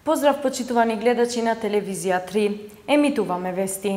Поздрав почитувани гледачи на телевизија 3. Емитуваме вести.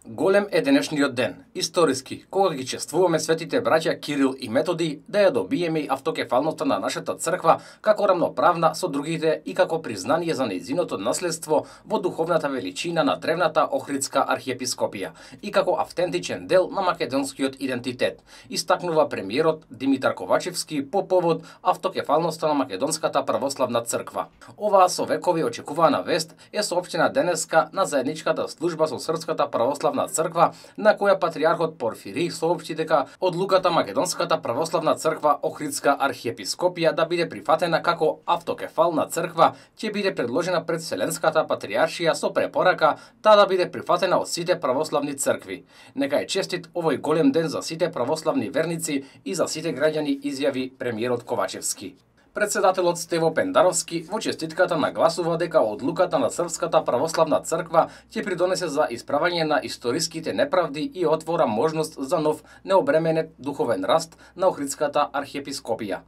Голем е денешниот ден, историски, кога ги чествуваме светите браќа Кирил и Методи, да ја добиеме и автокефалноста на нашата црква како рамноправна со другите и како признание за нејзиното наследство во духовната величина на древната Охридска архиепископија и како автентичен дел на македонскиот идентитет, истакнува премиерот Димитар Ковачевски по повод автокефалноста на Македонската православна црква. Оваа со векови очекувана вест е соопштена денеска на заедничката служба со Српската православна црква, на која патриархот Порфирий соопшти дека одлуката Македонската православна црква Охридска архиепископија да биде прифатена како автокефална црква ќе биде предложена пред Вселенската патриаршија со препорака таа да биде прифатена од сите православни цркви. Нека е честит овој голем ден за сите православни верници и за сите граѓани, изјави премиерот Ковачевски. Председателот Стево Пендаровски во честитката нагласува дека одлуката на Српската православна црква ќе придонесе за исправање на историските неправди и отвора можност за нов необременет духовен раст на Охридската архиепископија.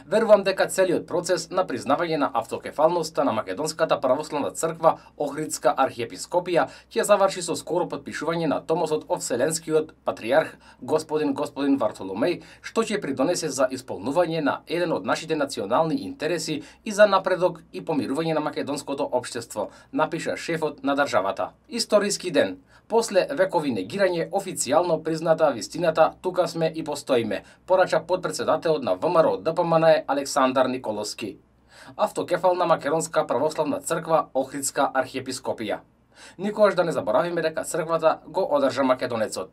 Верувам дека целиот процес на признавање на автокефалноста на Македонската православна црква Охридска архиепископија ќе заврши со скоро потпишување на томосот од Вселенскиот патриарх господин Вартоломеј, што ќе придонесе за исполнување на еден од нашите национални интереси и за напредок и помирување на македонското општество, напиша шефот на државата. Историски ден. После векови негирање, официјално призната вистината, тука сме и постоиме, порача подпредседателот на ВМРО ДПМН Александар Николовски. Автокефална Македонска православна црква Охридска архиепископија. Никогаш да не заборавиме дека црквата го одржа македонецот.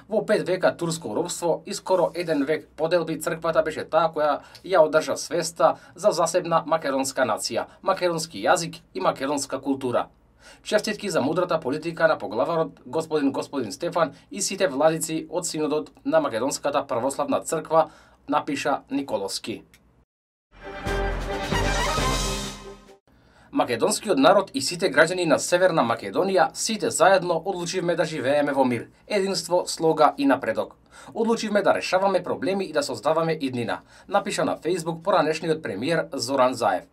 Во 5 века турско робство и скоро 1 век поделби, црквата беше таа која ја одржа свеста за засебна македонска нација, македонски јазик и македонска култура. Честитки за мудрата политика на поглаварот господин Стефан и сите владици од Синодот на Македонската православна црква, напиша Николовски. Македонскиот народ и сите граѓани на Северна Македонија, сите заедно одлучивме да живееме во мир, единство, слога и напредок. Одлучивме да решаваме проблеми и да создаваме иднина, напиша на Facebook поранешниот премиер Зоран Заев.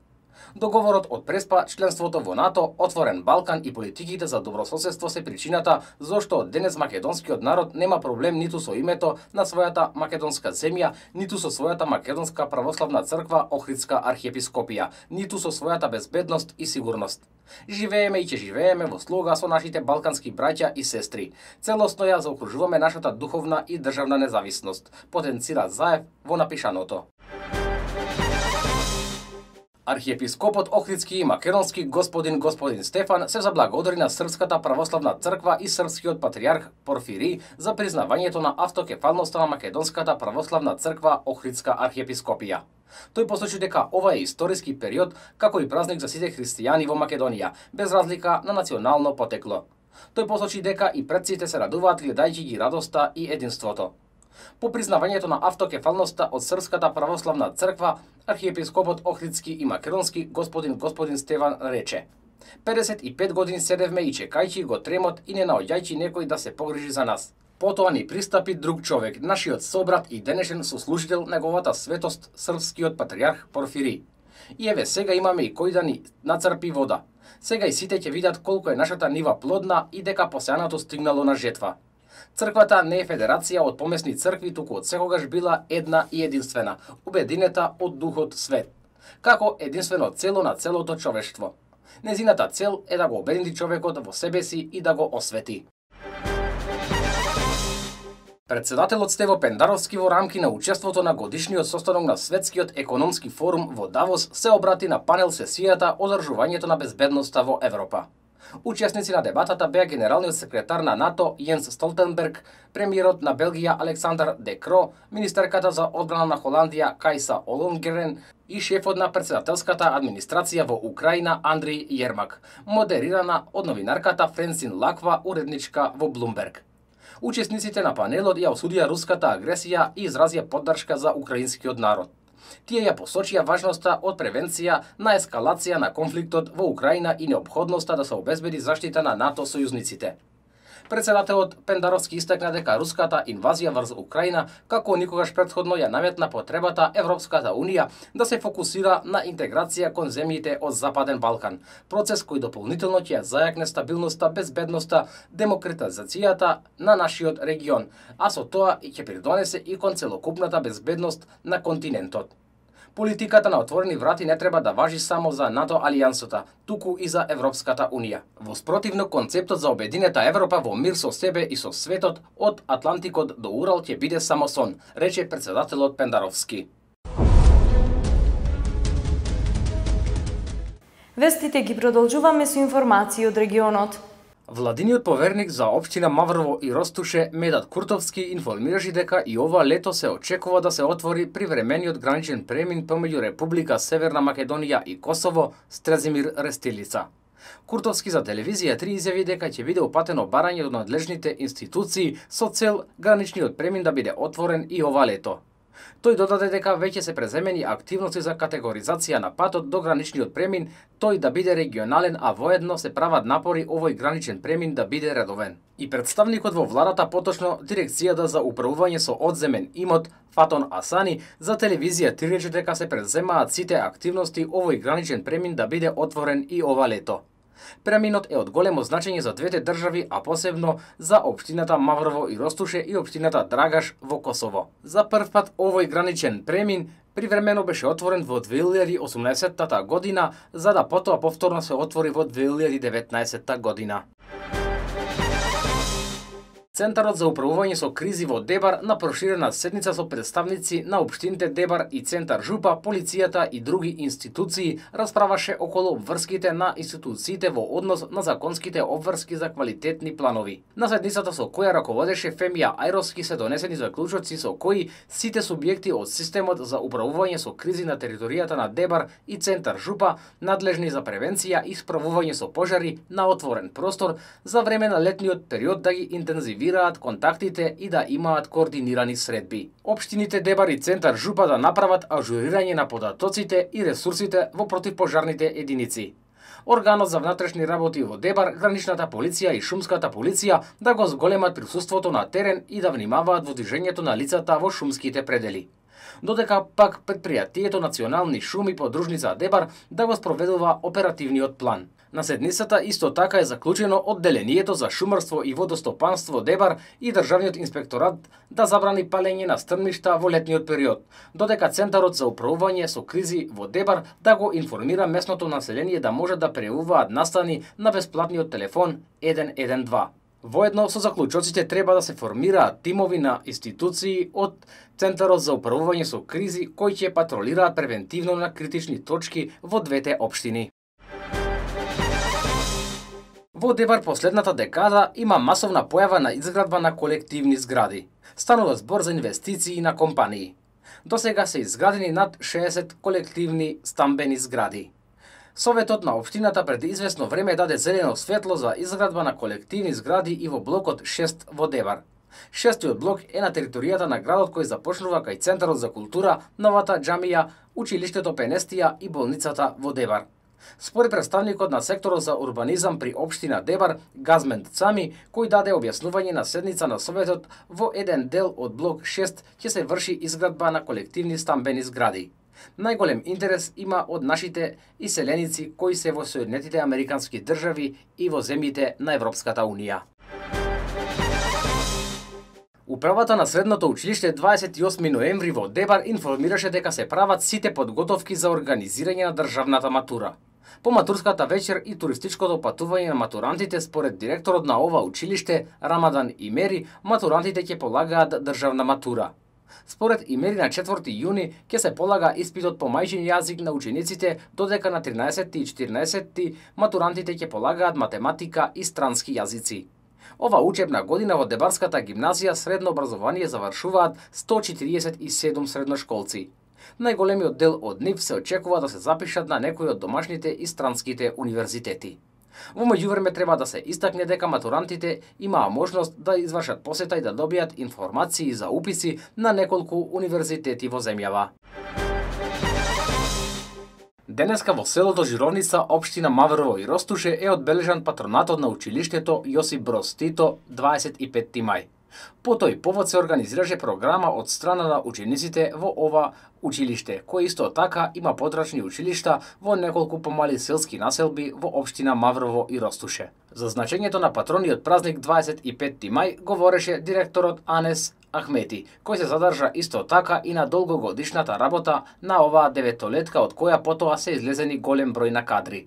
Договорот од Преспа, членството во НАТО, Отворен Балкан и политиките за добрососедство се причината зошто денес македонскиот народ нема проблем ниту со името на својата македонска земја, ниту со својата македонска православна црква Охридска архиепископија, ниту со својата безбедност и сигурност. Живееме и ќе живееме во слога со нашите балкански браќа и сестри. Целосно ја заокружуваме нашата духовна и државна независност, потенцира Заев во напишаното. Архиепископот Охридски и македонски господин Стефан се заблагодари на Српската православна црква и српскиот патриарх Порфирий за признавањето на автокефалноста на Македонската православна црква Охридска архиепископија. Тој посочи дека ова е историски период како и празник за сите христијани во Македонија, без разлика на национално потекло. Тој посочи дека и предците се радуваат гледајќи ги радоста и единството. По признавањето на автокефалноста од Српската православна црква, архиепископот Охридски и македонски господин Стефан рече: 55 години седевме и чекајќи го тремот и не наоѓајќи некој да се погрижи за нас. Потоа ни пристапи друг човек, нашиот собрат и денешен сослужител неговата светост, српскиот патриарх Порфирий. И еве сега имаме и кој да ни нацрпи вода. Сега и сите ќе видат колку е нашата нива плодна и дека посеаното стигнало на жетва. Црквата не е федерација од помесни цркви, туку од секогаш била една и единствена, убединета од Духот Свет, како единствено цело на целото човештво. Незината цел е да го обедини човекот во себе си и да го освети. Председателот Стево Пендаровски во рамки на учеството на годишниот состанок на Светскиот економски форум во Давос се обрати на панел сесијата одржувањето на безбедноста во Европа. Учесници на дебатата беа генералниот секретар на НАТО Јенс Столтенберг, премиерот на Белгија Александар Де Кро, министерката за одбрана на Холандија Кајса Олонгерен и шефот на председателската администрација во Украина Андри Јермак, модерирана од новинарката Френсин Лаква, уредничка во Блумберг. Учесниците на панелот ја осудија руската агресија и изразија поддршка за украинскиот народ. Тие ја посочија важноста од превенција на ескалација на конфликтот во Украина и неопходноста да се обезбеди заштита на НАТО сојузниците. Председателот Пендаровски истакна дека руската инвазија врз Украина како никогаш претходно ја наметна потребата Европската Унија да се фокусира на интеграција кон земјите од Западен Балкан, процес кој дополнително ќе ја зајакне стабилноста, безбедноста, демократизацијата на нашиот регион, а со тоа и ќе придонесе и кон целокупната безбедност на континентот. Политиката на отворени врати не треба да важи само за НАТО алијансата, туку и за Европската Унија. Во спротивно, концептот за обединета Европа во мир со себе и со светот од Атлантикот до Урал ќе биде само сон, рече председателот Пендаровски. Вестите ги продолжуваме со информации од регионот. Владиниот поверник за општина Маврово и Ростуше Медат Куртовски информираше дека и ова лето се очекува да се отвори привремениот граничен премин помеѓу Република Северна Македонија и Косово Стрезимир Рестилица. Куртовски за телевизија 3 изјави дека ќе биде упатено барање до надлежните институции со цел граничниот премин да биде отворен и ова лето. Тој додаде дека веќе се преземени активности за категоризација на патот до граничниот премин, тој да биде регионален, а воедно се прават напори овој граничен премин да биде редовен. И представникот во владата, поточно Дирекцијата за управување со одземен имот Фатон Асани, за телевизија 3 рече дека се преземаат сите активности овој граничен премин да биде отворен и ова лето. Преминот е од големо значење за двете држави, а посебно за општината Маврово и Ростуше и општината Драгаш во Косово. За прв пат овој граничен премин привремено беше отворен во 2018 година, за да потоа повторно се отвори во 2019 година. Центарот за управување со кризи во Дебар на проширена седница со представници на општините Дебар и Центар Жупа, полицијата и други институции расправаше околу обврските на институциите во однос на законските обврски за квалитетни планови. На седницата со која раководеше Фемија Ајровски се донесени заклучоци со кои сите субјекти од системот за управување со кризи на територијата на Дебар и Центар Жупа, надлежни за превенција и справување со пожари на отворен простор, за време на летниот период да ги интензивираат контактите и да имаат координирани средби. Општините Дебар и Центар Жупа да направат ажурирање на податоците и ресурсите во противпожарните единици. Органот за внатрешни работи во Дебар, граничната полиција и шумската полиција да го зголемат присуството на терен и да внимаваат во движењето на лицата во шумските предели. Додека пак предпријатието Национални шуми подружница Дебар да го спроведува оперативниот план. На седницата исто така е заклучено одделението за шумарство и водостопанство Дебар и Државниот инспекторат да забрани палење на стрмишта во летниот период, додека Центарот за управување со кризи во Дебар да го информира местното население да може да преуваат настани на бесплатниот телефон 112. Воедно со заклучоците треба да се формираат тимови на институции од Центарот за управување со кризи кои ќе патролираат превентивно на критични точки во двете општини. Во Дебар последната декада има масовна појава на изградба на колективни згради. Станува збор за инвестиции на компании. До сега се изградени над 60 колективни стамбени згради. Советот на општината пред известно време даде зелено светло за изградба на колективни згради и во блокот 6 во Дебар. Шестиот блок е на територијата на градот кој започнува кај Центарот за култура, новата џамија, училиштето Пенестија и болницата во Дебар. Според представникот на секторот за урбанизам при општина Дебар, Газмент Цами, кој даде објаснување на седница на Советот, во еден дел од блок 6 ќе се врши изградба на колективни стамбени згради. Најголем интерес има од нашите иселеници кои се во Соединетите Американски држави и во земјите на Европската Унија. Управата на средното училиште 28 ноември во Дебар информираше дека се прават сите подготовки за организирање на државната матура. По матурската вечер и туристичкото патување на матурантите, според директорот на ова училиште Рамадан Имери, матурантите ќе полагаат државна матура. Според Имери на 4 јуни ќе се полага испитот по мајчин јазик на учениците, додека на 13 и 14 матурантите ќе полагаат математика и странски јазици. Ова учебна година во Дебарската гимназија средно образование завршуваат 147 средношколци. Најголемиот дел од нив се очекува да се запишат на некои од домашните и странските универзитети. Во меѓувреме треба да се истакне дека матурантите имаа можност да извршат посета и да добијат информации за уписи на неколку универзитети во земјава. Денеска во селото Жировница, општина Маврово и Ростуше е одбележан патронатот на училиштето Јосип Броз Тито 25 мај. По тој повод се организираше програма од страна на учениците во ова училиште, кој исто така има подрачни училишта во неколку помали селски населби во општина Маврово и Ростуше. За значењето на патрониот празник 25 мај говореше директорот Анес Ахмети, кој се задржа исто така и на долгогодишната работа на оваа деветолетка, од која потоа се излезени голем број на кадри.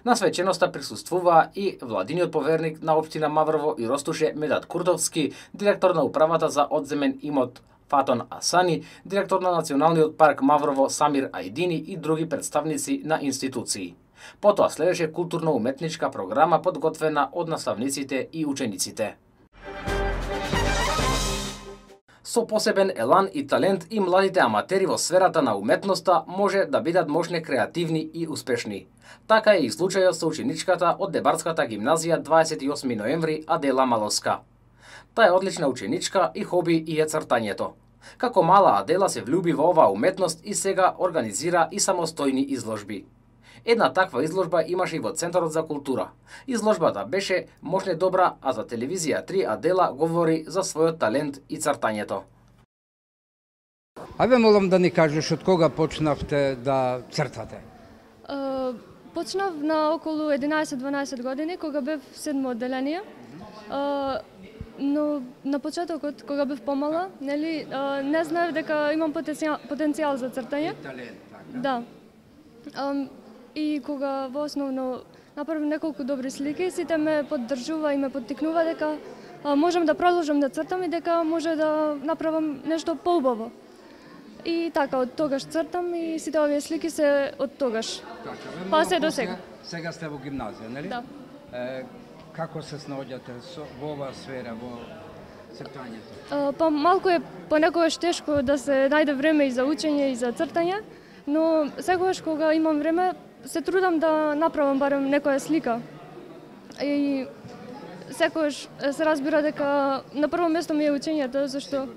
На свеченоста присуствуваа и владиниот поверник на општина Маврово и Ростуше Медат Куртовски, директор на управата за одземен имот Фатон Асани, директор на Националниот парк Маврово Самир Ајдини и други представници на институции. Потоа следеше културно-уметничка програма подготвена од наставниците и учениците. Со посебен елан и талент и младите аматери во сферата на уметноста може да бидат можне креативни и успешни. Така е и случајот со ученичката од Дебарската гимназија 28 ноември Адела Малоска. Таа е одлична ученичка и хоби и е цртањето. Како мала Адела се влюби во оваа уметност и сега организира и самостојни изложби. Една таква изложба имаше и во Центарот за култура. Изложбата беше можне добра, а за телевизија 3 Адела говори за својот талент и цртањето. Ајде молам да ни кажеш од кога почнавте да цртате? Почнав на околу 11-12 години, кога бев в 7 одделение. Но на почетокот, кога бев помала, нели, не знаев дека имам потенцијал за цртање. Талент, така. Да. И кога во основно направив неколку добри слики, сите ме поддржува и ме поттикнува дека можам да продолжам да цртам и дека може да направам нешто поубаво. И така, од тогаш цртам и сите овие слики се од тогаш. Така, Па се до сега. Сега сте во гимназија, нели? Да. Како се снаоѓате во оваа сфера, во цртањето? Па малку е понекогаш тешко да се најде време и за учење и за цртање, но секогаш кога имам време се трудам да направам барем некоја слика. И секогаш се разбира дека на прво место ми е учењето, зашто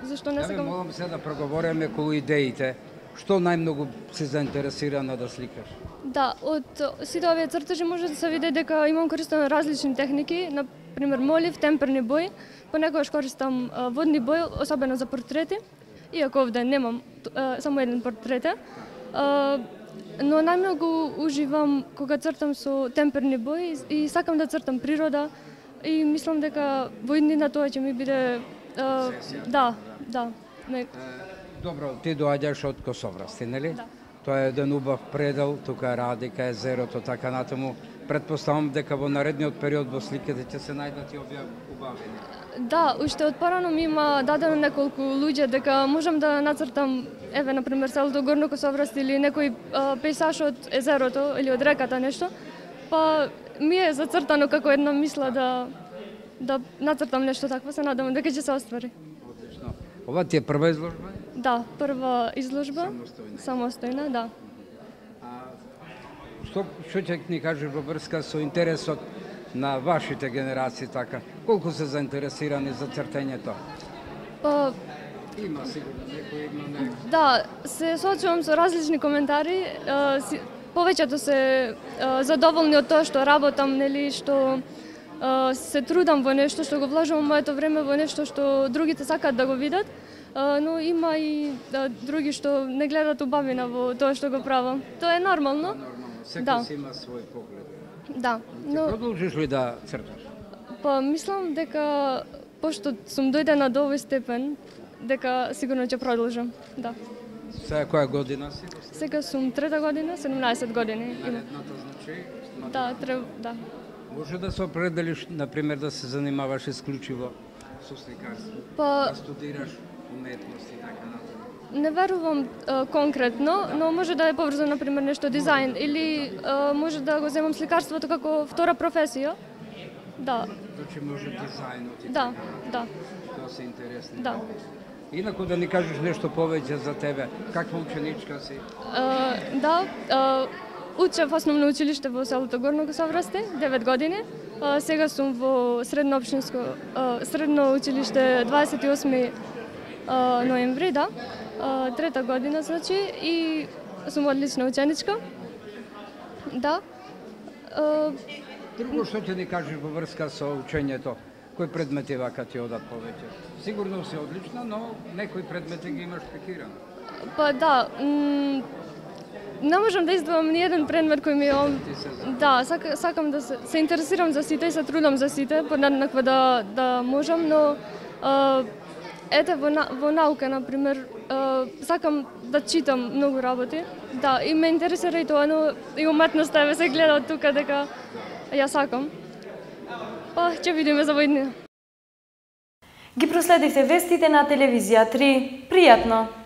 зашто не Ја сакам. молам се да проговориме околу идеите. Што најмногу се заинтересирана да сликаш? Да, од сите овие цртажи може да се види дека имам користено различни техники, на пример молив, темперни бои, понекогаш користам водни бои, особено за портрети, иако овде немам само еден портрет. Но најмногу уживам кога цртам со темперни бои и сакам да цртам природа и мислам дека во иднина тоа ќе ми биде да. Добро, ти доаѓаш од Косоврасти, нели? Да. Тоа е еден убав предел, тука Радика, езерото, така натаму. Предпоставам дека во наредниот период во сликите ќе се најдат и овие убавини. Да, уште од порано ми има дадено неколку луѓе дека можам да нацртам, еве, например, селото Горно Косоврасти или некој пейсаж од езерото или од реката нешто, па ми е зацртано како една мисла да нацртам нешто такво, се надевам дека ќе се оствари. Одлично. Ова ти е прва изложба? Да, прва изложба. Самостојна, да. Што ќе ни кажеш во врска со интересот на вашите генерации, така? Колку се заинтересирани за цртањето? Па, Има сигурно некој, има некој. да, се соочувам со различни коментари. Повеќето се задоволни од тоа што работам, нели, што се трудам во нешто, што го вложувам моето време во нешто што другите сакаат да го видат, но има и други што не гледат убавина во тоа што го правам. Тоа е нормално. Секој си има свој поглед. Да, но Продолжиш ли да црташ? па мислам дека пошто сум дојдена до овој степен, дека сигурно ќе продолжам. Да. Сега која година си? Сега сум трета година, 17 години. Наредната, значи? Да, да. Може да се определиш, например, да се занимаваш исклучиво со сликарство, Па да студираш уметност и така натаму. не верувам конкретно, но може да е поврзано, например, нешто дизајн или може да го земам сликарството како втора професија. Да, Значи може дизајнот и да, така натаму. да, Тоа се интересни. да. Инаку да ни кажеш нешто повеќе за тебе. Каква ученичка си? Да, учев основно училиште во селото Горно Косоврасти, 9 години. Сега сум во средно училиште 28 ноември, да. Трета година, значи, и сум одлична ученичка. Да. Друго што ќе ни кажеш во врска со учењето? Кои предмети вака ти одат повеќе? Сигурно си одлична, но некои предмети ги имаш пекирано. Па да, не можам да издвојам ни еден предмет кој ми да, сакам да се интересирам за сите и се трудам за сите, понаднаква да можам, но ете во наука, например, сакам да читам многу работи. Да, и ме интересира и тоа, но и уметноста еве се гледа од тука дека ја сакам. Па ќе видиме за војднина. Ги проследивте вестите на телевизија 3. Пријатно!